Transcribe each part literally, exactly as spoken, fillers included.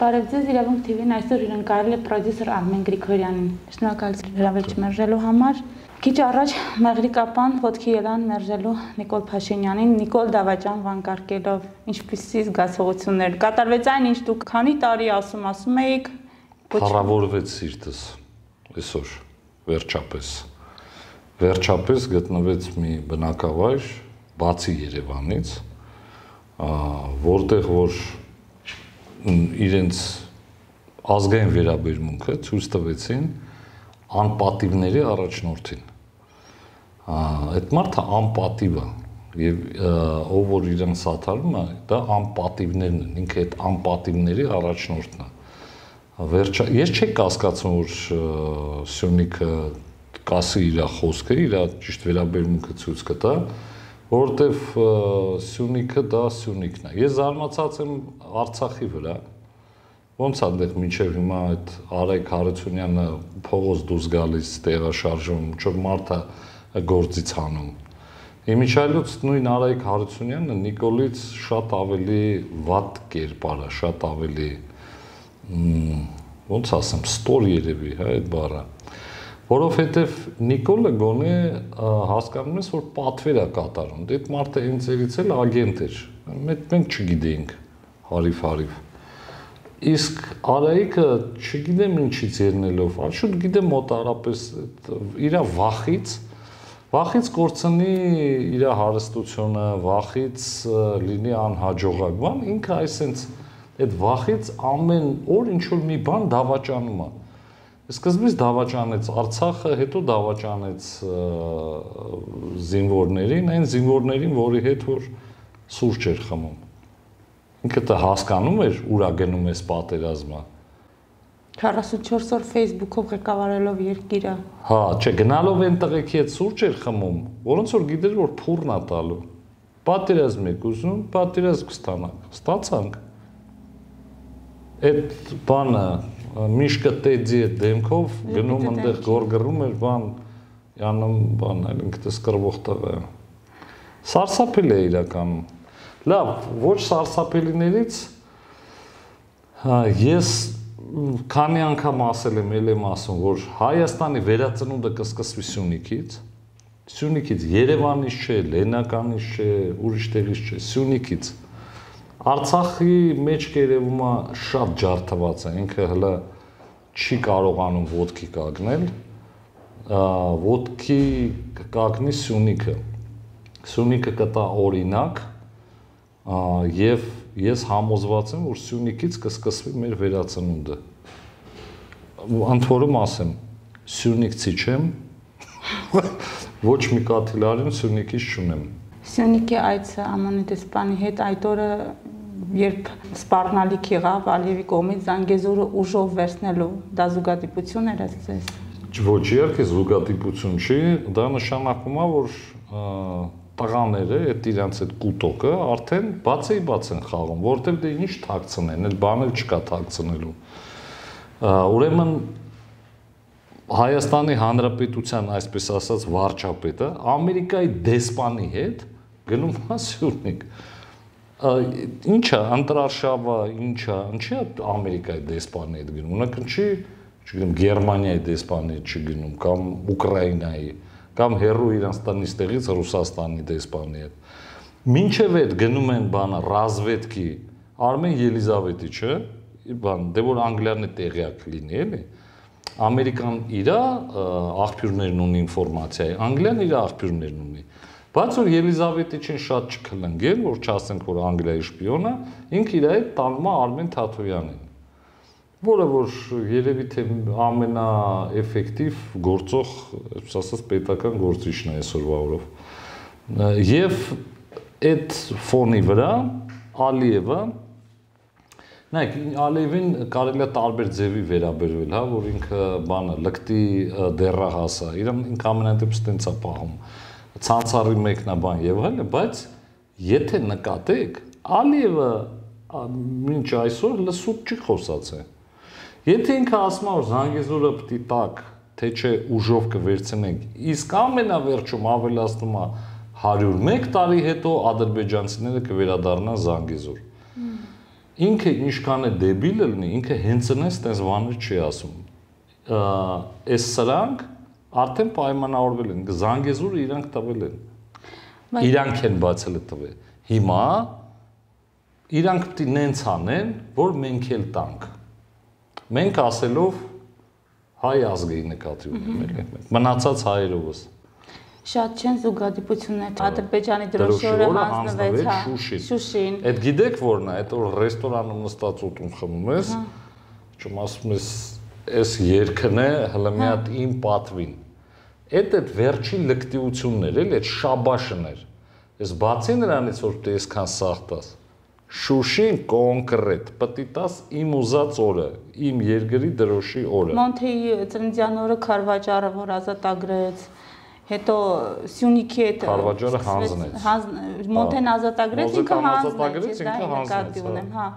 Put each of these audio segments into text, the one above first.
Բարև ձեզ, Իրավունք T V-ն այսօր հյուրընկալել է պրոդյուսեր Արմեն Գրիգորյանին։ Շնորհակալություն հրավերից մերժելու համար։ Քիչ առաջ Մեղրիկապան ոտքի ելան մերժելու Նիկոլ Փաշինյանին, Նիկոլ Դավաճան վանկարկելով, ինչպիսի զգացողություններ կատարվեց այն, ինչ դուք քանի տարի ասում ասում էիք։ Փառավորվեց սիրտս այսօր վերջապես։ Վերջապես գտնվեց մի բնակավայր բացի Երևանից, որտեղ որ իրենց ազգային վերաբերմունքը ցույց տվեցին անպատիվների առաջնորդին։ Այդ մարդը անպատիվ է եւ ով որ իրեն սաթարում է, դա անպատիվներն են, ինքը այդ անպատիվների առաջնորդն է։ Վերջը ես չեք կասկածում, որ Սյունիքը կասի իր խոսքը, իր ճիշտ վերաբերմունքը ցույց կտա, որովհետեւ Սյունիքը դա Սյունիքն է։ Ես զարմացած եմ Արցախի վրա։ Ոնց է այնտեղ մինչև հիմա այդ Արայք Հարությունյանը փողոց դուրս գալիս, տեղաշարժում, ինչ-որ մարդը գործից հանում։ Իմիջայլոց նույն Արայք Հարությունյանը Նիկոլից շատ ավելի վատ կերպար է, շատ ավելի ոնց ասեմ, ստոր երևի, հա, այդ բառը։ Որովհետև Նիկոլը գոնե հասկանում ես, որ պատվեր է կատարում։ Այդ մարդը հենց երից էլ ագենտ էր։ Մենք չգիտեինք հարիվ-հարիվ։ Իսկ Արայիկը չգիտեմ ինչից ելնելով, շուտ գիտեմ մոտարապես իր վախից, վախից կորցնի իր հարստությունը, վախից լինի անհաջողակ բան, ինքը այսենց այդ վախից ամեն օր ինչ-որ մի բան դավաճանում է։ Սկզբից դավաճանեց Արցախը, հետո դավաճանեց զինվորներին, այն զինվորներին, որի հետ որ սուրճ էր խմում։ Ինքը դա հասկանում էր, ուրա գնում էս պատերազմը։ քառասունչորս օր Facebook-ով ղեկավարելով երկիրը։ Հա, չէ, գնալով այն տղեկի հետ սուրճ էր խմում, որոնց որ գիտեր, որ փուրն է տալու։ Պատերազմ եք ուզում, պատերազմ կստանանք, ստացանք։ Այդ բանը Միշկը տեդի այդ դեմքով գնում ընդեղ գորգռում էր բան, յանում բան, այլ ինքտես կրվող տղա։ Սարսափել է իրականում։ Լավ, ոչ սարսափելիներից ես քանի անգամ ասել եմ, ել եմ ասում, որ Հայաստանի վերածնունդը կսկսվի Սյունիքից, Սյունիքից, Երևանից չէ, Լեննականից չէ, ուրիշ տեղից չէ, Սյունիքից։ Արցախի մեջ կերևում է շատ ջարդված է, ինքը հլը չի կարողանում ոտքի կագնել, ոտքի կագնի Սյունիքը, Սյունիքը կտա օրինակ և ես համոզված եմ, որ Սյունիքից կսկսվի մեր վերածնունդը, ընդորում ասեմ, Սյունիքցի չեմ, ոչ մի կաթիլարին Սյունիքից չունեմ։ Սյունիքի այցը Է Մ Ն դեսպանի հետ այդ օրը երբ սպառնալիք եղավ Ալիևի կողմից Զանգեզուրը ուժով վերցնելու, դա զուգադիպություն էր ձեզ։ Ոչ, իհարկե զուգադիպություն չի, դա նշանակում է, որ տղաները, այդ իրանց այդ կուտոկը արդեն բացեի բաց են խաղում, որովհետև դե ինչ թաքցնեն, այլ բան էլ չկա թաքցնելու։ Ուրեմն Հայաստանի Հանրապետության, այսպես ասած, վարչապետը Ամերիկայի դեսպանի հետ գնում է Սյունիք։ Ինչա, ընտրարշավը, ինչա, ինչի Ամերիկայի դեսպանի հետ գնում, ունական չի, չգնում, Գերմանիայի դեսպանի հետ չգնում, կամ Ուկրաինայի, կամ հեռու Իրանստանից տեղից Ռուսաստանի դեսպանի հետ։ Մինչև այդ գնում են բանը ռազվետքի Արմեն Ելիզավետիչը, բան, դե որ Անգլիան է տեղյակ լինի, էլի։ Ամերիկան իր աղբյուրներն ունի ինֆորմացիայի, Անգլիան իր աղբյուրներն ունի։ Բայց որ Ելիզավետիչին շատ չքլնգել, որ չասենք, որ Անգլիայի շպիոն է, ինքը իր հետ տանում է Արմեն Թաթոյանին, որը որ երևի թե ամենաէֆեկտիվ գործող, այսպես ասած, պետական գործիչն է այսօրվա օրով։ Եվ այդ ֆոնի վրա Ալիևը Նայեք, Ալիևին կարելի է տարբեր ձևի վերաբերվել, հա, որ ինքը բանը լկտի դեռահաս է, իրան ինքը ամենայնտեպս տենց է պահում, ցանցառի մեկնաբան եւ այլն, բայց եթե նկատեք, Ալիևը մինչ այսօր լսուկ չի խոսացել։ Եթե ինքը ասում է, որ Զանգեզուրը պիտի տակ, թե չէ ուժով կվերցնենք, իսկ ամենավերջում ավելացնում է one hundred one տարի հետո ադրբեջանցիները կվերադառնան Զանգեզուր։ Որը որ երևի թե ամենաէֆեկտիվ գործող, այսպես ասած, պետական գործիչն է այսօրվա օրով։ Եվ այդ ֆոնի վրա Ալիևը ինքը ինչքան է դեբիլ լինի, ինքը հենց այնպես տես բաներ չի ասում։ Այս սրանք արդեն պայմանավորվել են, Զանգեզուրը իրանք տվել են։ Իրանք են բացել տվել։ Հիմա իրանք պիտի նենց անեն, որ մենք էլ տանք։ Մենք ասելով հայ ազգի նկատի ունեմ, էլի։ Մնացած հայերովս։ Շատ չեն զուգադիպություններ։ Ադրբեջանի դրոշի օրը հանձնվեց Շուշին։ Այդ գիտեք որն է, այդ որ ռեստորանում նստած ուտում խմում ես, չեմ ասում ես, այս երգն է հələ մի հատ իմ պատվին։ Այդ այդ վերջին լկտիություններ, էլի, այդ շաբաշներ։ Ես բացի նրանից որ դու այսքան սախտաս, Շուշին կոնկրետ, պետք է տաս իմ ուզած օրը, իմ երկրի դրոշի օրը։ Մոնթեի ծննդյան օրը Քարվաճարը որ ազատագրեց, հետո Սյունիքի հետ Քարվաճարը հանձնեց։ Մոնթեն ազատագրեց, ինքը հանձնեց, ինքը հանձնեց, հա։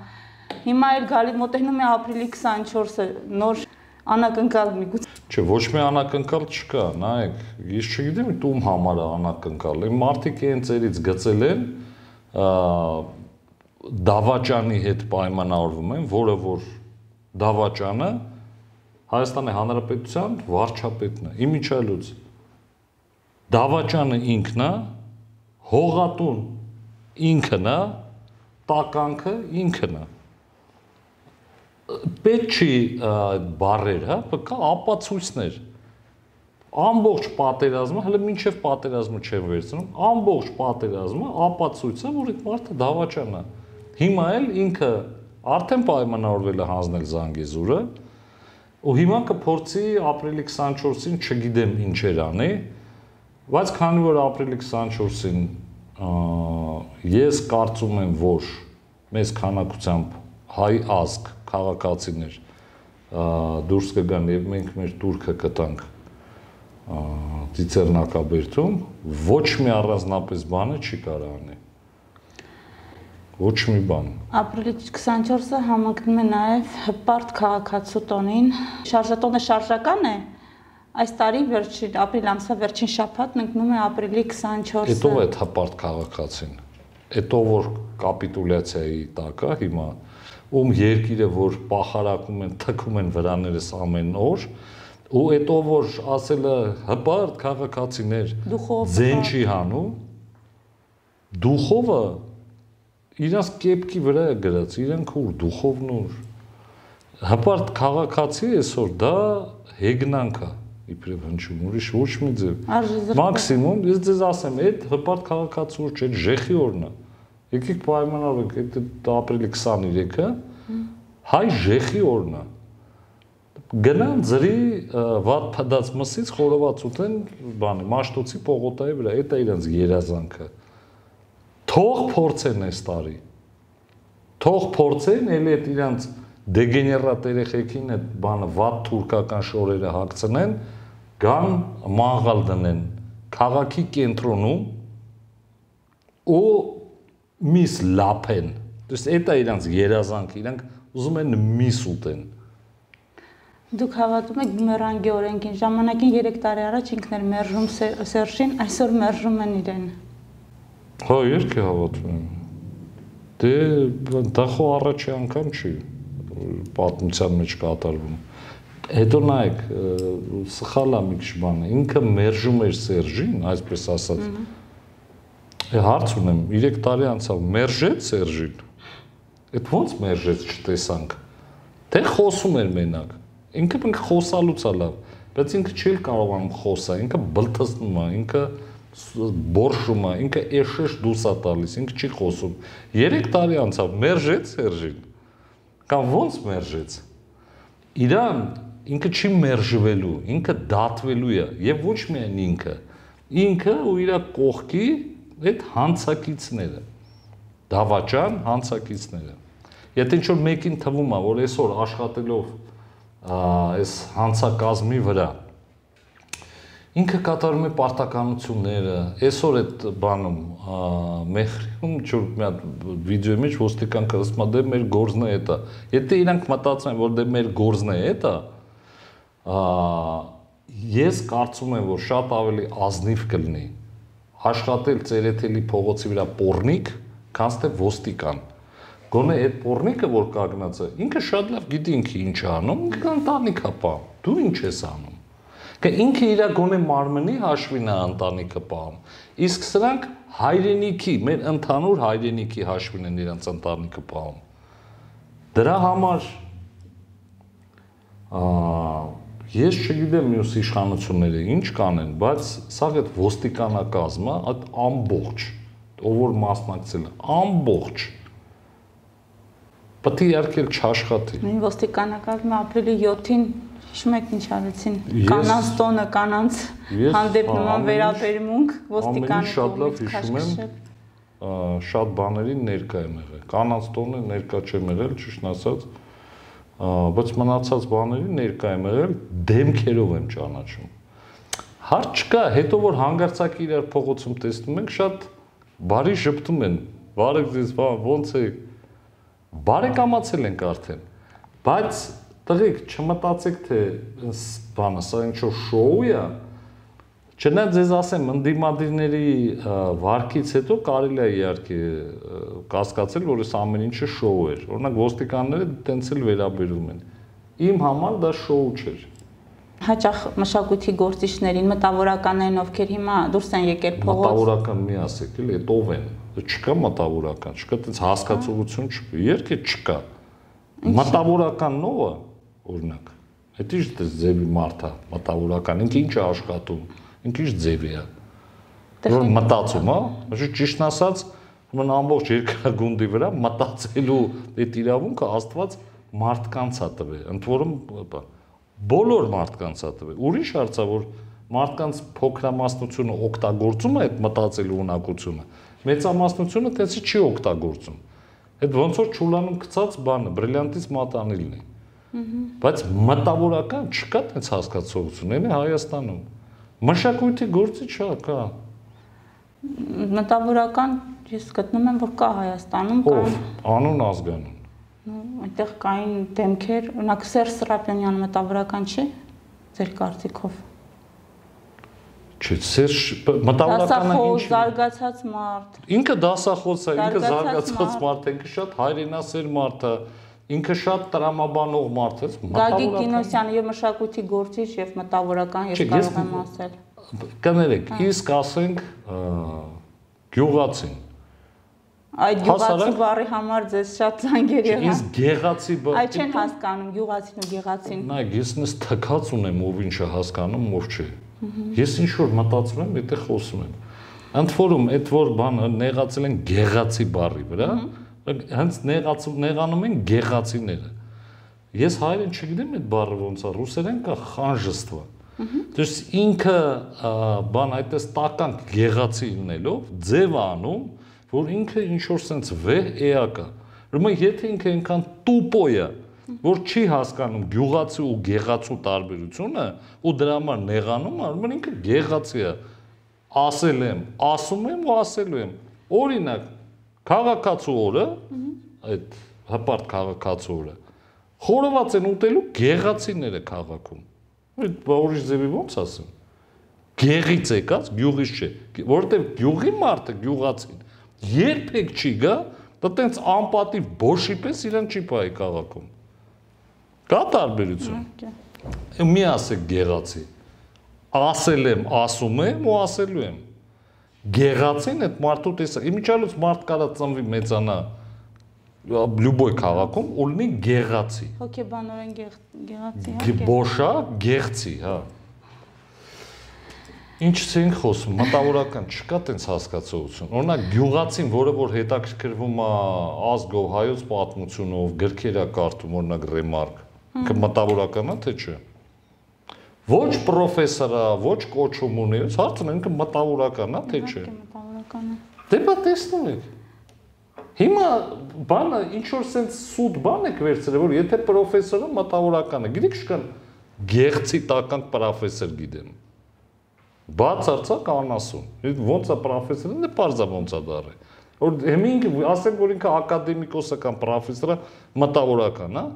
Հիմա էլ գալի մոտենում է ապրիլի քսանչորսը, նոր անակնկալ միգուցե։ Չէ, ոչ մի անակնկալ չկա, նայեք, ես չգիտեմ ում համար է անակնկալ։ Այն մարդիկ են ծերից գծել են, դավաճանի հետ պայմանավորվում են, որը որ դավաճանը Հայաստանի Հանրապետության վարչապետն է, իմիջիալուց։ Դավաճանը ինքն է, հողատուն ինքն է, տականքը ինքն է։ Պետք չի բառեր, հա, պետք է ապացույցներ։ Ամբողջ պատերազմը, հələ մինչև պատերազմը չեն վերցնում, ամբողջ պատերազմը ապացույց է, որ այդ մարդը դավաճան է։ Հիմա էլ ինքը արդեն պայմանավորվել է հանձնել Զանգեզուրը, ու հիմա կփորձի ապրիլի քսանչորսին չգիտեմ ինչեր անի, բայց քանի որ ապրիլի քսանչորսին ես կարծում եմ, որ մեծ քանակությամբ հայ ազգ, քաղաքացիներ դուրս կգան եւ մենք մեր турքը կտանք Ծիծեռնակաբերդում, ոչ մի առանձնապես բանը չի կարող անել։ Ոչ մի բան։ Ապրիլի քսանչորսը համընկնում է նաև հպարտ քաղաքացու տոնին։ Շարժատոնը շարժական է։ Այս տարի վերջին ապրիլ ամսվա վերջին շաբաթն ընկնում է ապրիլի քսանչորսը։ Հետո է հպարտ քաղաքացին։ Հետո որ կապիտուլյացիայի տակ է հիմա, ում երկիրը որ պախարակում են, թքում են վրաներս ամեն օր, ու հետո որ ասելը հպարտ քաղաքացիներ ձեն չի հանում, դուխովը իրանց կեպքի վրա է գրած, իրանք ուր, դուխովն ուր։ Հպարտ քաղաքացի այսօր դա հեգնանք է, իբրև հնչում, ուրիշ ոչ մի ձև։ Մաքսիմում, ես ձեզ ասեմ, այդ հպարտ քաղաքացի ուր չէ, ժեխի օրն է։ Եկեք պայմանավորենք, այդ ապրիլի քսաներեքը հայ ժեխի օրն է։ Գնան ձրի վատ փդած մսից խորոված ուտեն, բանը, Մաշտոցի պողոտայի վրա, այդ է իրանց երազանքը։ Թող փորձեն այս տարի։ Թող փորձեն, էլի այդ իրանց դեգեներատ երեխեքին այդ բանը վատ թուրքական շորերը հագցնեն, գան մաղալ դնեն քաղաքի կենտրոնում ու միս լափեն։ Դες այդ է իրանց երազանքը, իրանք ուզում են միս ուտեն։ Դուք հավատում եք բումերանգի օրենքին, ժամանակին երեք տարի առաջ ինքն էր մերժում Սերժին, այսօր մերժում են իրեն։ Հա, երկի հավատում եմ։ Դե դա խո առաջի անգամ չի պատմության մեջ կատարվում։ Հետո նայեք, սխալ է մի քիչ բանը, ինքը մերժում էր Սերժին, այսպես ասած։ Հարց ունեմ, երեք տարի անցավ, մերժեց Սերժին։ Այդ ո՞նց մերժեց չտեսանք։ Թե խոսում էր մենակ։ Ինքը ինքը խոսալուց է լավ, բայց ինքը չի կարողանում խոսալ, ինքը բլթսնում է, ինքը բորշում է, ինքը էշեշ դուրս է տալիս, ինքը չի խոսում։ երեք տարի անցավ, մերժեց Սերժին։ Կամ ո՞նց մերժեց։ Իրան ինքը չի մերժվելու, ինքը դատվելու է, եւ ոչ միայն ինքը, ինքը ու իր կողքի այդ հանցակիցները, դավաճան հանցակիցները։ Եթե ինչ-որ մեկին թվում է, որ այսօր աշխատելով այս հանցակազմի վրա ինքը կատարում է պարտականությունները, այսօր այդ բանում Մեխրիում ինչ-որ մի հատ վիդեոյի մեջ ոստիկան կրսմա դե մեր գործն է դա։ Եթե իրանք մտածում են, որ դե մեր գործն է դա, ես կարծում եմ, որ շատ ավելի ազնիվ կլինի աշխատել Ծերեթելի փողոցի վրա պոռնիկ, քան թե ոստիկան։ Գոնե այդ պորնիկը որ կանգնած է, ինքը շատ լավ գիտի ինքը ինչ է անում, ինքը ընտանիքա պահում։ Դու ինչ ես անում։ Că ինքը իր գոնե մարմնի հաշվին է ընտանիքը պահում։ Իսկ սրանք հայրենիքի, մեր ընդհանուր հայրենիքի հաշվին են իրենց ընտանիքը պահում։ Դրա համար ես չգիտեմ մյուս իշխանությունները ինչ կանեն, բայց սա այդ ոստիկանակազմը, այդ ամբողջ, ով որ մասնակցել է, ամբողջ պետք է իհարկե չաշխատի։ Նույն ոստիկանակազմը ապրիլի յոթին հիշում եք ինչ արեցին, կանանց տոնը, կանանց հանդեպ նման վերաբերմունք ոստիկանի շատ լավ հիշում եմ, շատ բաների ներկա եմ եղել, կանանց տոնը ներկա չեմ եղել, ճիշտ ասած, բայց մնացած բաների ներկա եմ եղել, դեմքերով եմ ճանաչում։ Հարց չկա, հետո որ հանգարցակի իրար փողոցում տեսնում ենք, շատ բարի շփթում են, բարեք ձեզ, ոնց է, բարեկամացել ենք արդեն, բայց տղիկ չմտածեք, թե բանը, սա ինչ-որ շոու է, չնայած ձեզ ասեմ, ընդդիմադիրների վարքից հետո կարելի է իհարկե կասկածել, որ այս ամեն ինչը շոու էր։ Օրինակ ոստիկանները տենց էլ վերաբերում են։ Իմ համար դա շոու չէր։ Հաճախ մշակույթի գործիչներին, մտավորականներին, ովքեր հիմա դուրս են եկել փողոց։ Մտավորական մի ասեք, էլի, այդ ով են։ Չկա մտավորական, չկա տենց հասկացողություն չկա, իհարկե չկա։ Մտավորական նովը, օրինակ, այդ ինչ ձևի մարդ է, մտավորական, ինքը ինչ է աշխատում, ինքը ինչ ձևի է։ Որ մտածում, հա, ճիշտ ասած, ուրեմն ամբողջ երկրագունդի վրա մտածելու այդ իրավունքը Աստված մարդկանց է տվել, ընդ որում բոլոր մարդկանց է տվել։ Ուրիշ հարց է, որ մարդկանց փոքրամասնությունը օգտագործում է այդ մտածելու ունակությունը, մեծամասնությունը տեցի չի օգտագործում։ Այդ ոնց որ ճուլանում գցած բանը, բրիլյանտից մատանիլն է։ Բայց մտավորական չկա տենց հասկացողություն, այն է Հայաստանում։ Մշակույթի գործիչ հա կա։ Մտավորական ես գտնում եմ, որ կա Հայաստանում, կան անուն ազգանուն։ Այնտեղ կային դեմքեր, օրինակ Սերժ Սրապյոնյանը մտավորական չի, ձեր կարծիքով։ Չէ, Սերժ մտավորականը ինչ զարգացած մարդ։ Ինքը դասախոս է, ինքը զարգացած մարդ է, ինքը շատ հայրենասեր մարդ է, ինքը շատ տրամաբանող մարդ է, Գագիկ Կինոսյանը եւ մշակույթի գործիչ եւ մտավորական ես կարող եմ ասել։ Կներեք, իսկ ասենք գյուղացին։ Այդ գյուղացի բառի համար ձեզ շատ զանգեր եղան։ Իսկ գեղացի բառը։ Այդ չեն հասկանում գյուղացին ու գեղացին։ Նայեք, ես նես թքած ունեմ, ով ինչ է հասկանում, ով չէ։ Ես ինչ որ մտածում եմ, այդտեղ խոսում եմ։ Ընդ որում, այդ որ բանը նեղացել են գեղացի բառի վրա, հենց նեղացում նեղանում են գեղացիները։ Ես հայերեն չգիտեմ այդ բառը ոնց է, ռուսերեն կա խանժստվա։ То есть ինքը բան այդպես տականք գեղացի լինելով ձև անում, որ ինքը ինչ որ sense վեհ էակ է։ Ուրեմն եթե ինքը այնքան տուպո է, որ չի հասկանում գյուղացի ու գեղացու տարբերությունը ու դրա համար նեղանում է, ուրեմն ինքը գեղացի է։ Ասել եմ, ասում եմ ու ասելու եմ։ Օրինակ, քաղաքացու օրը, այդ հպարտ քաղաքացու օրը, խորոված են ուտելու գեղացիները քաղաքում։ Այդ ուրիշ ձևի ոնց ասեմ։ Գեղից եկած, գյուղից չէ, որովհետև գյուղի մարդը գյուղացին երբեք չի գա, դա տենց անպատիվ բոշի պես իրան չի պահի քաղաքում։ Կա տարբերություն։ Մի ասեք գեղացի։ Ասել եմ, ասում եմ ու ասելու եմ։ Գեղացին այդ մարդու տեսա, իմիջիալուց մարդ կարա ծնվի մեծանա լյուբոյ քաղաքում ու լինի գեղացի։ Հոգեբանորեն գեղացի, հա։ Բոշա, գեղցի, հա։ Ինչ ենք խոսում, մտավորական չկա տենց հասկացողություն։ Օրինակ գյուղացին, որը որ հետաքրքրվում է ազգով, հայոց պատմությունով, գրքեր է կարդում, օրինակ Ռեմարկ, ինքը մտավորական է թե չէ։ Ոչ պրոֆեսոր է, ոչ կոչում ունի, հարցն ինքը մտավորական է թե չէ։ Մտավորական է։ Դե բա տեսնում եք։ Հիմա բանը ինչ որ sense սուտ բան եք վերցրել, որ եթե պրոֆեսորը մտավորական է, գիտեք շքան գեղցի տականք պրոֆեսոր գիտեմ։ Բացարձակ անասուն։ Ոնց է պրոֆեսորը, դե պարզա ոնց է դառը։ Որ հիմինք ասենք որ ինքը ակադեմիկոս կամ պրոֆեսորը մտավորական, հա։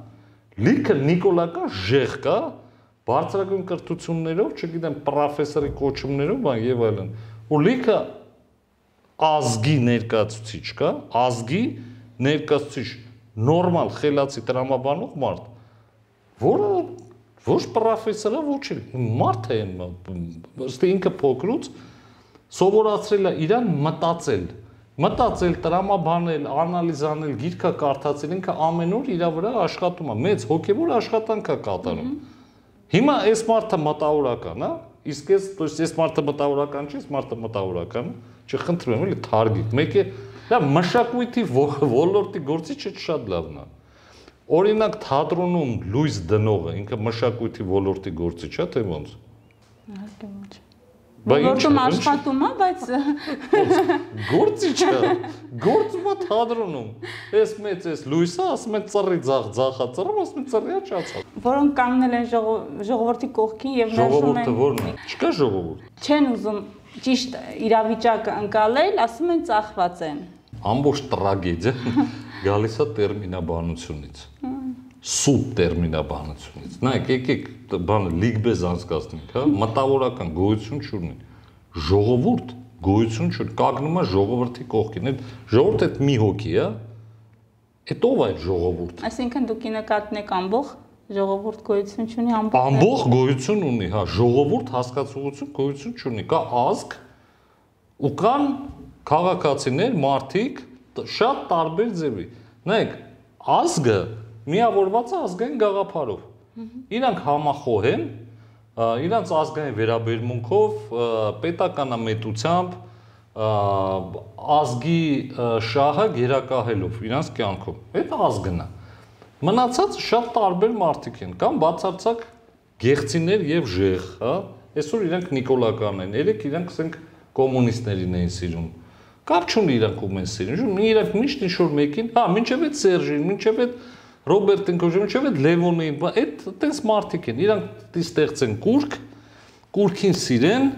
Լիքը նիկոլական ժեղ կա, բարձրագույն կրթություններով, չգիտեմ, պրոֆեսորի կոչումներով, բան եւ այլն։ Ու լիքը ազգի ներկայացուցիչ կա, ազգի ներկայացուցիչ նորմալ խելացի տրամաբանող մարդ, որը ոչ պրոֆեսոր է, ոչ մարդ է, ըստ ինքը փոքրուց սովորացրել է իրան մտածել, մտածել, տրամաբանել, անալիզ անել, գիրքը կարդացել, ինքը ամեն օր իր վրա աշխատում է, մեծ հոգևոր աշխատանք է կատարում։ Հիմա այս մարդը մտավորական է, իսկ ես, то есть այս մարդը մտավորական չի, այս մարդը մտավորական է, չխնդրում եմ, էլի թարգիկ։ Մեկը դա մշակույթի ոլորտի գործիչը շատ լավն է։ Օրինակ թատրոնում լույս դնողը, ինքը մշակույթի ոլորտի գործիչ է, թե ոնց։ Ոլորտում աշխատում է, բայց գործիչ է, գործում է թատրոնում։ Այս մեծ էս լույսը, ասում են ծռի ձախ ձախա ծռում, ասում են ծռիա ճացա։ Որոնք կանգնել են ժողովրդի կողքին եւ մերժում են։ Ժողովուրդը ո՞րն է։ Չկա ժողովուրդ։ Չեն ուզում ճիշտ իրավիճակը ընկալել, ասում են ծախված են։ Ամբողջ տրագեդիա գալիս է տերմինաբանությունից։ Սուտ տերմինաբանությունից։ Նայեք, եկեք բանը լիգբեզ անցկացնենք, հա, մտավորական գոյություն չունի։ Ժողովուրդ գոյություն չունի, կանգնում է ժողովրդի կողքին։ Այդ ժողովուրդը այդ մի հոգի է, այդ ով է այդ ժողովուրդը։ Այսինքն դուք նկատնեք ամբողջ ժողովուրդ գոյություն չունի, ամբողջ ամբողջ գոյություն ունի, հա, ժողովուրդ հասկացողություն գոյություն չունի, կա ազգ ու կան քաղաքացիներ, մարդիկ շատ տարբեր ձևի։ Նայեք, ազգը միավորված է ազգային գաղափարով։ Իրանք համախոհ են, իրանք ազգային վերաբերմունքով, պետականամետությամբ, ազգի շահը գերակահելով իրանք կյանքում։ Այդ ազգն է։ Մնացածը շատ տարբեր մարդիկ են, կամ բացարձակ գեղցիներ եւ ժեղ, հա։ Այսօր իրանք նիկոլական են, երեք իրանք ասենք կոմունիստներին էին սիրում։ Կապ չունի իրանք ում են սիրում, իրանք միշտ ինչ-որ մեկին, հա, մինչև այդ Սերժին, մինչև այդ Ռոբերտին կոչում, մինչև այդ Լևոնին, այդ այդպես մարդիկ են, իրանք ստեղծեն կուրք, կուրքին սիրեն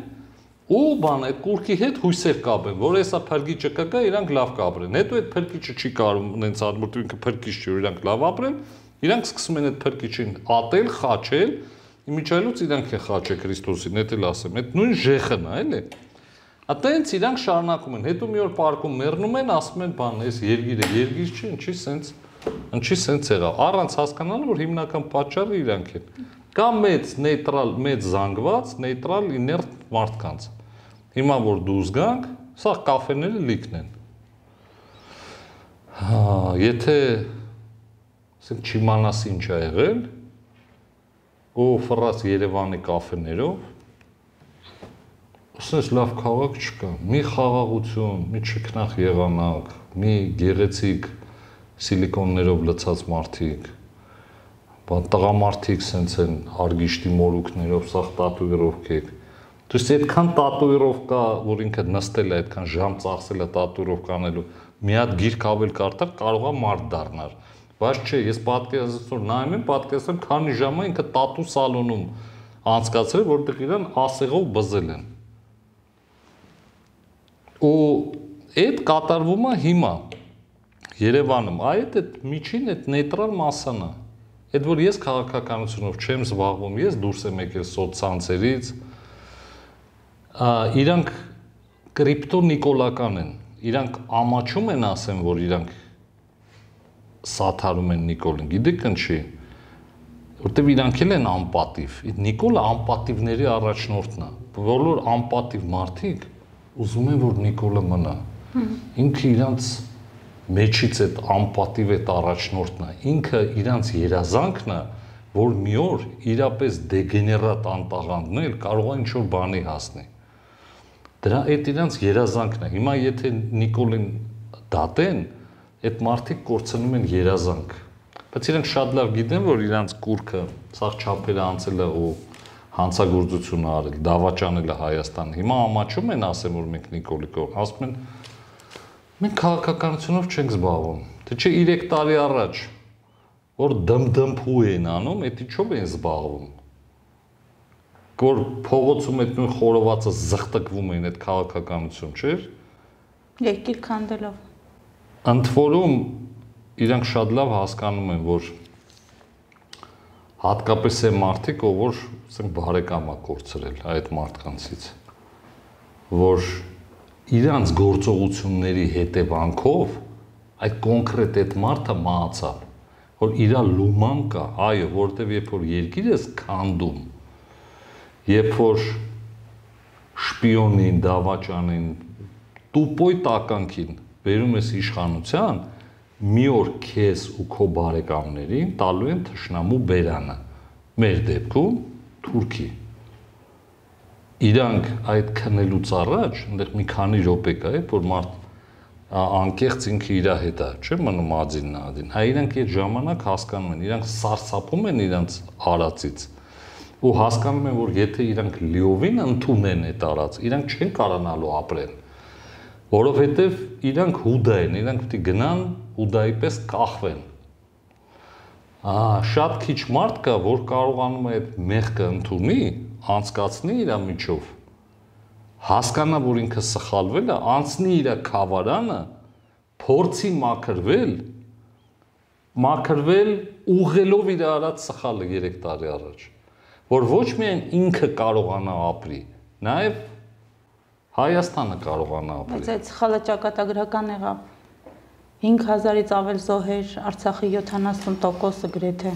ու բան, այդ կուրքի հետ հույսեր կապեն, որ հեսա փրկիչը կգա, իրանք լավ կապրեն։ Հետո այդ փրկիչը չի կարող նենց ադմուրտ ինքը փրկիչ չի, որ իրանք լավ ապրեն, իրանք սկսում են այդ փրկիչին ատել, խաչել, իմիջայլոց իրանք են խաչը Քրիստոսին, դա էլ ասեմ, այդ նույն ժեխն է, էլի։ Այդտենց իրանք շարունակում են, հետո մի օր պարկում մեռնում են, ասում են, բան, այս երգիրը երգիր չի, ինչի սենց, ինչի սենց եղավ։ Առանց հասկանալու, որ հիմնական պատճառը իրանք են։ Կա մեծ նեյտրալ, մեծ զանգված, նեյտրալ իներտ մարդկանց։ Հիմա որ դուրս գանք, սա կաֆեները լիքն են։ Հա, եթե ասենք չիմանաս ինչ ա եղել, ու ֆրաս Երևանի կաֆեներով ասես լավ քաղաք չկա, մի խաղաղություն, մի չքնախ եղանակ, մի գեղեցիկ սիլիկոններով լցած մարդիկ, բան տղամարդիկ սենց են արգիշտի մորուքներով, սաղ տատուիրովքեք, то есть այդքան տատուիրովկա, որ ինքը նստել է, այդքան ժամ ծախսել է տատուիրովկա անելու, մի հատ գիրք ավել կարդալ կարող է մարդ դառնալ, բայց չէ, ես պատկերացնում նայում եմ, պատկերացնում քանի ժամ է ինքը տատու սալոնում անցկացրել, որտեղ իրան ասեղով բզել են։ Ու այդ կատարվում է հիմա Երևանում, այդ այդ միջին այդ նեյտրալ մասան է։ Այդ որ ես քաղաքականությունով չեմ զբաղվում, ես դուրս եմ եկել սոցցանցերից, իրանք կրիպտոնիկոլական են, իրանք ամաչում են ասեն, որ իրանք սաթարում են Նիկոլին, գիտեք ինչի, որտեվ իրանք էլ են անպատիվ, Նիկոլը անպատիվների առաջնորդն է, բոլոր անպատիվ մարդիկ ուզում են, որ Նիկոլը մնա, ինքը իրանց մեջից այդ անպատիվ այդ առաջնորդն է, ինքը իրանց երազանքն է, որ մի օր իրապես դեգեներատ անտաղանդն էլ կարող է ինչ-որ բանի հասնի, դրա այդ իրանց երազանքն է, հիմա եթե Նիկոլին դատեն, այդ մարդիկ կորցնում են երազանք, բայց իրանք շատ լավ գիտեն, որ իրանց կուրքը սաղ չափերը անցել է ու հանցագործություն արել, դավաճանել է Հայաստանը, հիմա ամաչում են ասեմ, որ մենք Նիկոլի կողմ, ասում են, մենք քաղաքականությունով չենք զբաղվում, թե չէ երեք տարի առաջ, որ դմդմփու են անում, այդ ինչով են զբաղվում, որ փողոցում այդ նույն խորովածը զղտկվում են այդ քաղաքականություն, չէր։ Երկիր քանդելով։ Ընդ որում իրանք շատ լավ հասկանում են, որ հատկապես այն մարդիկ, ով որ ասենք բարեկամ է կորցրել այդ մարդկանցից, որ իրանց գործողությունների հետևանքով այդ կոնկրետ այդ մարդը մահացավ, որ իր լուման կա, այո, որտեվ երբ որ երկիր ես քանդում, երբ որ շպիոնին, դավաճանին, տուպոյ տականքին վերում ես իշխանության, մի օր քեզ ու քո բարեկամներին տալու են թշնամու բերանը, մեր դեպքում Թուրքի։ Իրանք այդ քնելուց առաջ, այնտեղ մի քանի րոպե կա, որ մարդ անկեղծ ինքը իր հետ է, չէ՞ մնում ադին նադին։ Հա իրանք այդ ժամանակ հասկանում են, իրանք սարսափում են իրանք արածից ու հասկանում են, որ եթե իրանք լիովին ընդունեն այդ արած, իրանք չեն կարողանալու ապրել, որովհետև իրանք հուդա են, իրանք պետք է գնան հուդայի պես կախվեն։ Ահա, շատ քիչ մարդ կա, որ կարողանում է այդ մեղքը ընդունի, անցկացնի իր միջով, հասկանա, որ ինքը սխալվել է, անցնի իր քավարանը, փորձի մաքրվել, մաքրվել ուղղելով իր արած սխալը երեք տարի առաջ, որ ոչ միայն ինքը կարողանա ապրի, նաև Հայաստանը կարողանա ապրի։ Բայց այդ սխալը ճակատագրական եղավ։ հինգ հազարից ավել զոհեր, Արցախի յոթանասուն տոկոսը գրեթե։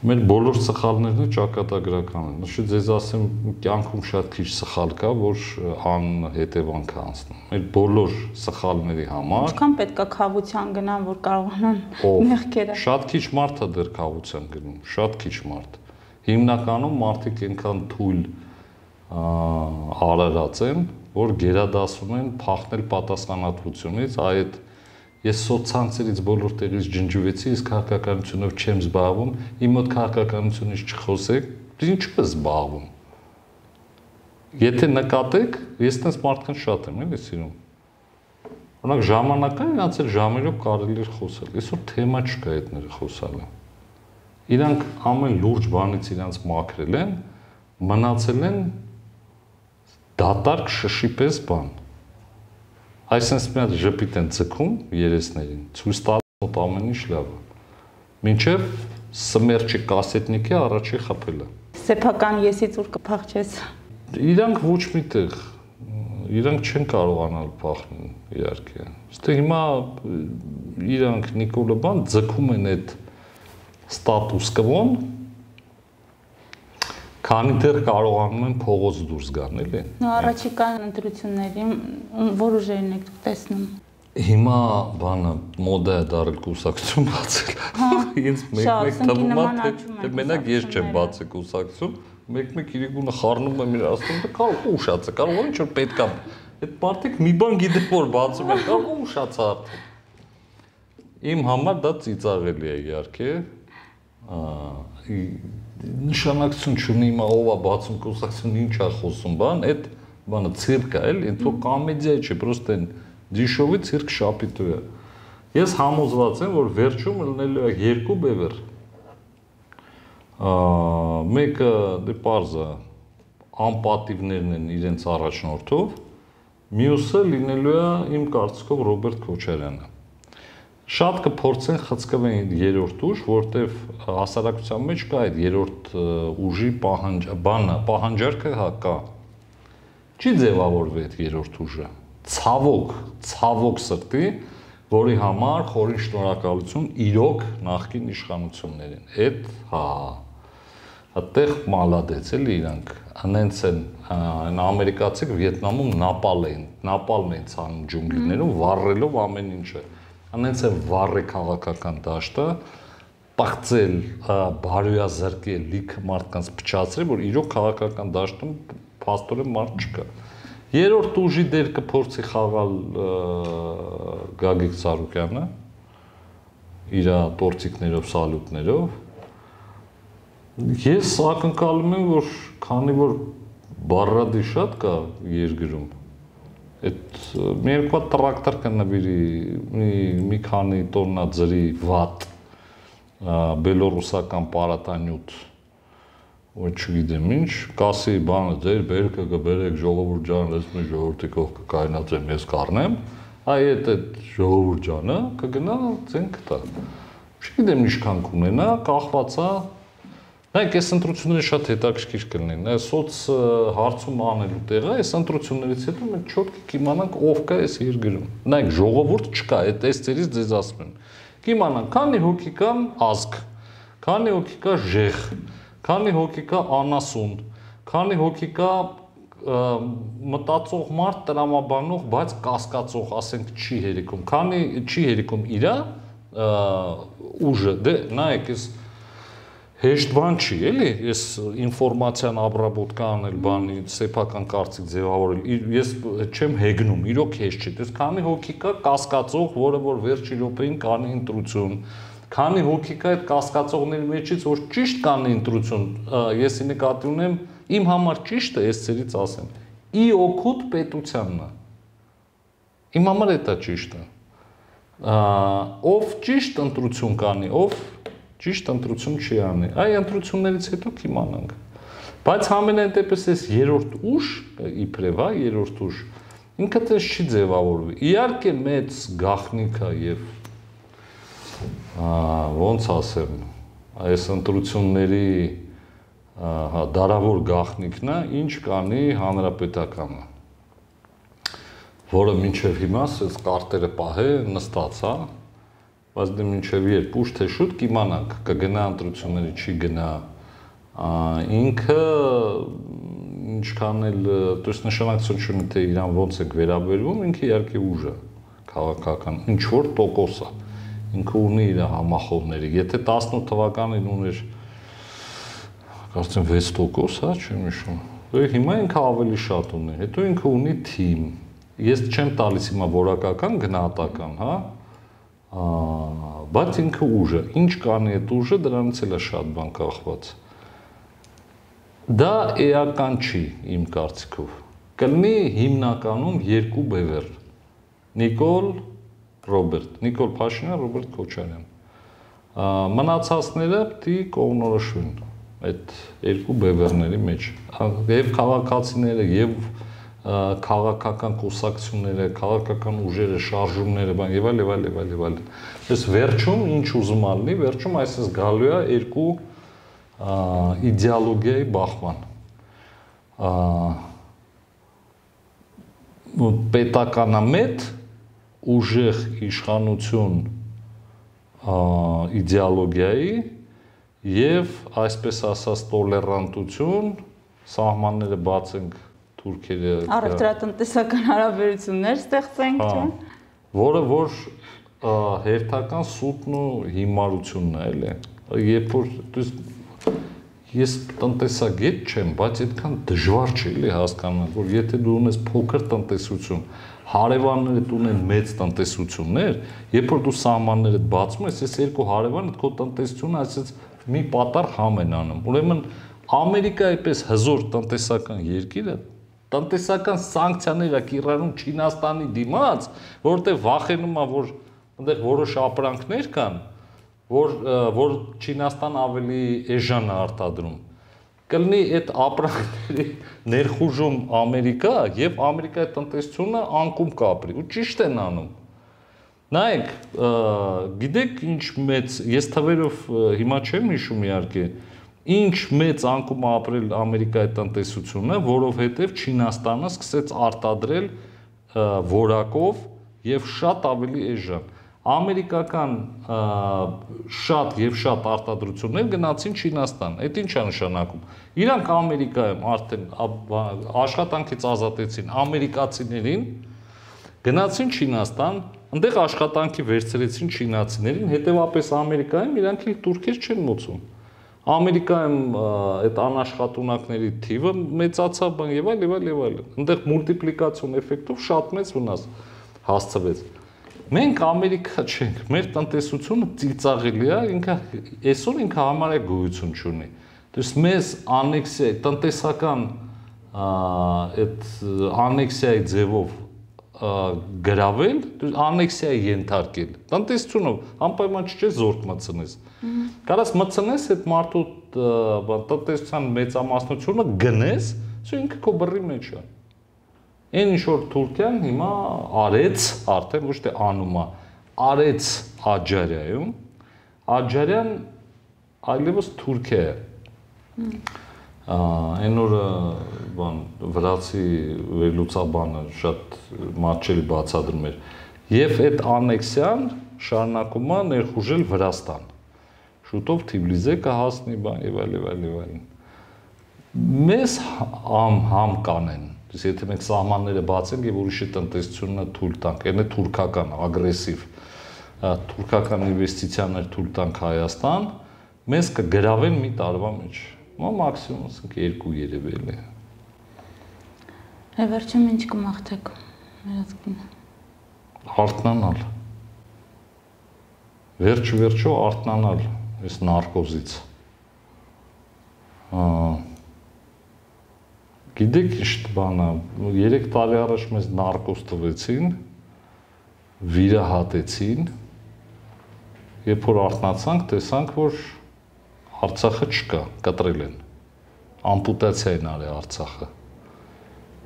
Մեր բոլոր սխալներն ճակատագրական են։ Նշի ձեզ ասեմ, կյանքում շատ քիչ սխալ կա, որ անհետևանք է անցնում։ Մեր բոլոր սխալների համար Ինչքան պետք է քավության գնան, որ կարողանան մեղքերը։ Շատ քիչ մարդ է դեռ քավության գնում, շատ քիչ մարդ։ Հիմնականում մարդիկ այնքան թույլ արարած են, որ գերադասում են փախնել պատասխանատվությունից, այդ ես սոցցանցերից բոլոր տեղից ջնջվեցի, իսկ քաղաքականությունով չեմ զբաղվում, իմ մոտ քաղաքականությունից չխոսեք, դու ինչու ես զբաղվում։ Եթե նկատեք, ես տես մարդքան շատ եմ, էլի սիրում։ Օրինակ ժամանակը իրանց էլ ժամերով կարելի էր խոսել, այսօր թեմա չկա այդները խոսալը։ Իրանք ամեն լուրջ բանից իրանց մաքրել են, մնացել են դատարկ շշի պես բան։ Այսինքն մի հատ ժպիտ են ձգում երեսներին, ցույց տալու մոտ ամեն ինչ լավ է։ Մինչև սմերջի կասետնիկի առաջի խփելը։ Սեփական եսից ուր կփախչես։ Իրանք ոչ միտեղ, իրանք չեն կարողանալ փախնել, իհարկե։ Ստե հիմա իրանք Նիկոլը բան ձգում են այդ ստատուս կվոն, քանի դեռ կարողանում են փողոց դուրս գան, էլի։ Նո առաջիկան ընտրությունների որ ուժերն եք տեսնում։ Հիմա բանը մոդա է դարել կուսակցություն բացել։ Ինձ մեկ-մեկ թվում է, թե մենակ ես չեմ բացել կուսակցություն, մեկ-մեկ իրիկունը խառնում եմ իր ասում, դա կարող ուշացա, կարող ինչ որ պետք է։ Այդ մարդիկ մի բան գիտեն, որ բացում են, կարող ուշացա արդեն։ Իմ համար դա ծիծաղելի է իհարկե։ Նշանակություն չունի հիմա ով է բացում կուսակցություն, ինչ է խոսում, բան, այդ բանը ցիրկ է, էլի, ինձ կոմեդիա չէ, պրոստը դիշովի ցիրկ շապիտու է։ Ես համոզված եմ, որ վերջում լինելու է երկու բևեր։ Մեկը դե պարզ է, անպատիվներն են իրենց առաջնորդով, մյուսը լինելու է իմ կարծիքով Ռոբերտ Քոչարյանը։ Շատ կփորձեն խցկվեն երրորդ ուժ, որտեվ հասարակության մեջ կա այդ երրորդ ուժի բանը, պահանջարկը հա կա։ Չի ձևավորվի այդ երրորդ ուժը։ Ցավոք, ցավոք սրտի, որի համար խորին շնորհակալություն իրոք նախկին իշխանություններին։ Այդ հա այդտեղ մալադեց էլի իրանք, անենց են այն ամերիկացիք Վիետնամում նապալ էին, նապալն էին ցանում ջունգլիներում, վառելով ամեն ինչը։ Անենց է վառի քաղաքական դաշտը, պաղծել, բարոյազրկել, լիքը մարդկանց փչացրել, որ իրոք քաղաքական դաշտում փաստորեն մարդ չկա։ Երրորդ ուժի դեր կփորձի խաղալ Գագիկ Ծառուկյանը իր տորցիկներով, սալյուտներով։ Ես ակնկալում եմ, որ քանի որ բառադի շատ կա երկրում, այդ մի երկու տրակտոր կնվիրի մի քանի տոննա ջրի վատ բելոռուսական պարատանյութ ու չգիտեմ ինչ, կասի բանը ձեր բերքը կբերեք ժողովուրդ ջան, ես մի ժողովրդի կողք կկայնացեմ, ես կառնեմ, այ այդ ժողովուրդ ջանը կգնա ցենք տա։ Չգիտեմ ինչքան կունենա, կախված է Նայեք, այս ընտրությունները շատ հետաքրքիր կլինեն։ Այս սոց հարցում անելու տեղը, այս ընտրություններից հետո մենք չոտք կիմանանք ով կա այս երկրում։ Նայեք, ժողովուրդ չկա, այդ այս ծերից ձեզ ասում են։ Կիմանանք, քանի հոգի կան ազգ, քանի հոգի կա ժեղ, քանի հոգի կա անասուն, քանի հոգի կա մտածող մարդ, տրամաբանող, բայց կասկածող, ասենք, չի հերիքում, քանի չի հերիքում իրա ուժը, դե նայեք, այս հեշտ բան չի, էլի, ես ինֆորմացիան ապրաբոտկա անել բանի, սեփական կարծիք ձևավորել, ես չեմ հեգնում, իրոք հեշտ չի, դες քանի հոգի կա կասկածող, որը որ վերջի րոպեին կանի ընտրություն, քանի հոգի կա այդ կասկածողների մեջից, որ ճիշտ կանի ընտրություն, ես նկատի ունեմ, իմ համար ճիշտը, ես ցերից ասեմ, ի օգուտ պետությանն է, իմ համար էտա ճիշտը, ով ճիշտ ընտրություն կանի, ով ճիշտ ընտրություն չի անի, այ ընտրություններից հետո կիմանանք, բայց համենայն դեպս այս երրորդ ուժ, իբրև, երրորդ ուժ, ինքը տես չի ձևավորվի, իհարկե մեծ գաղտնիք է և ոնց ասեմ, այս ընտրությունների դարավոր գաղտնիքն է, ինչ կանի հանրապետականը, որը մինչև հիմա այս կարտերը պահե նստած, հա, բայց դե մինչև երբ ուշ թե շուտ կիմանանք, կգնա ընտրությունների, չի գնա, ինքը ինչքան էլ տույս նշանակություն չունի, թե իրան ոնց եք վերաբերվում, ինքը իհարկե ուժ է, քաղաքական, ինչ-որ տոկոս է, ինքը ունի իր համախոհները, եթե տասնութ թվականին ուներ, կարծեմ վեց տոկոս, հա, չեմ հիշում, հիմա ինքը ավելի շատ ունի, հետո ինքը ունի թիմ, ես չեմ տալիս հիմա որակական, գնահատական, հա, բայց ինքը ուժը, ինչ կանի այդ ուժը, դրանից էլ է շատ բան կախված։ Դա էական չի իմ կարծիքով, կլինի հիմնականում երկու բևեռ, Նիկոլ Ռոբերտ, Նիկոլ Փաշինյան, Ռոբերտ Քոչարյան, մնացածները պիտի կողմնորոշվեն այդ երկու բևեռների մեջ, և քաղաքացիները, և քաղաքական կուսակցությունները, քաղաքական ուժերը, շարժումները, բան եւ այլ եւ այլ եւ այլ եւ այլ։ Այս վերջում ինչ ուզում ալնի, վերջում այսպես գալու է երկու իդեոլոգիայի բախման։ Պետականամետ ուժեղ իշխանություն իդեոլոգիայի եւ այսպես ասած տոլերանտություն, սահմանները բացենք թուրքերը առևտրատնտեսական հարաբերություններ ստեղծենք, չէ՞։ Որը որ հերթական սուտն ու հիմարությունն է, էլի։ Երբ որ ես տնտեսագետ չեմ, բայց այդքան դժվար չէ, էլի հասկանալ, որ եթե դու ունես փոքր տնտեսություն, հարևաններդ ունեն մեծ տնտեսություններ, երբ որ դու սահմաններդ բացում ես, այս երկու հարևանը քո տնտեսությունը այսպես մի պատառ համ են անում։ Ուրեմն Ամերիկայի պես հզոր տնտեսական երկիրը տնտեսական սանկցիաներ է կիրառում Չինաստանի դիմաց, որտեղ վախենում է, որ այնտեղ որոշ ապրանքներ կան, որ որ Չինաստան ավելի էժան է արտադրում։ Կլինի այդ ապրանքների ներխուժում Ամերիկա եւ Ամերիկայի տնտեսությունը անկում կապրի ու ճիշտ են անում։ Նայեք, գիտեք ինչ մեծ, ես թվերով հիմա չեմ հիշում իհարկե, ինչ մեծ անկում ապրել Ամերիկայի տնտեսությունը, որովհետև Չինաստանը սկսեց արտադրել որակով եւ շատ ավելի էժան։ Ամերիկական շատ եւ շատ արտադրություններ գնացին Չինաստան։ Այդ ինչ է նշանակում։ Իրանք Ամերիկայում արդեն աշխատանքից ազատեցին ամերիկացիներին, գնացին Չինաստան, այնտեղ աշխատանքի վերցրեցին չինացիներին, հետեւապես Ամերիկայում իրանք թուրքեր չեն մոցում։ Ամերիկայում այդ անաշխատունակների թիվը մեծացավ բան եւ այլ եւ այլ եւ այլ։ Այնտեղ մուլտիպլիկացիոն էֆեկտով շատ մեծ վնաս հասցվեց։ Մենք Ամերիկա չենք, մեր տնտեսությունը ծիծաղելի է, ինքը այսօր ինքը համարյա գոյություն չունի։ Դες մեզ անեքսիա, տնտեսական այդ անեքսիայի ձևով գրավել, անեքսիայի ենթարկել։ Տնտեսությունով անպայման չէ զորք մտցնես։ Կարաս մտցնես այդ մարդու տնտեսության մեծամասնությունը գնես, սա ինքը քո բռի մեջ է։ Այն ինչ որ Թուրքիան հիմա արեց, արդեն ոչ թե անում է, արեց Աջարիայում, Աջարյան այլևս Թուրքիա է։ Այն օրը բան վրացի վերլուծաբանը շատ մատչելի բացադրում էր եւ այդ անեքսիան շարունակում է ներխուժել Վրաստան շուտով Թիֆլիսե կհասնի բան եւ այլ եւ այլ եւ այլն մեզ համ համ կանեն եթե մենք սահմանները բացենք եւ ուրիշի տնտեսությունը թույլ տանք այն է թուրքական ագրեսիվ թուրքական ինվեստիցիաներ թույլ տանք Հայաստան մեզ կգրավեն մի տարվա մեջ մա մաքսիմում ասենք երկու երևելի է վերջում ինչ կմաղթեք վերածքին արթնանալ վերջ վերջո արթնանալ այս նարկոզից գիտեք ինչ բանա երեք տարի առաջ մեզ նարկոզ տվեցին վիրահատեցին երբ որ արթնացանք տեսանք որ Արցախը չկա կտրել են ամպուտացիա են արել Արցախը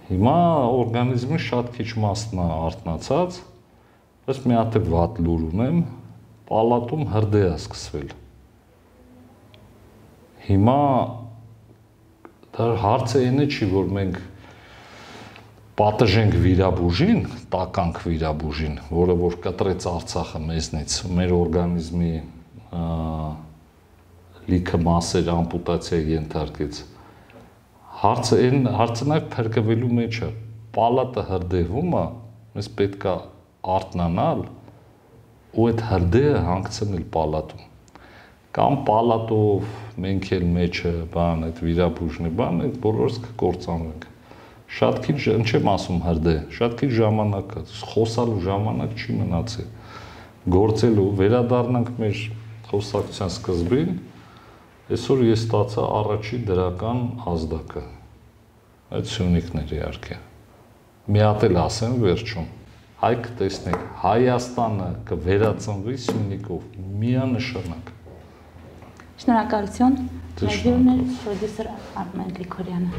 հիմա օրգանիզմի շատ քիչ մասն է արթնացած բայց մի հատ վատ լուր ունեմ պալատում հրդեհ է սկսվել հիմա դա հարցը այն է չի որ մենք պատժենք վիրաբուժին տականք վիրաբուժին որը որ կտրեց Արցախը մեզնից մեր օրգանիզմի լիքը մասեր ամպուտացիա ենթարկեց հարցը այն հարցը նաև փրկվելու մեջ է պալատը հրդեհվում է մեզ պետք է արթնանալ ու այդ հրդեհը հանգցնել պալատում կամ պալատով մենք էլ մեջը բան այդ վիրաբուժնի բան այդ բոլորս կկործանվենք շատ քիչ չեմ ասում հրդեհ շատ քիչ ժամանակ է խոսալու ժամանակ չի մնացել գործելու վերադառնանք մեր խոսակցության սկզբին այսօր ես ստացա առաջին դրական ազդակը այդ Սյունիքներ իհարկե մի հատ էլ ասեմ վերջում հայ կտեսնեք Հայաստանը կվերածնվի Սյունիքով միանշանակ Շնորհակալություն Հայրենն է պրոդյուսեր Արմեն Գրիգորյանը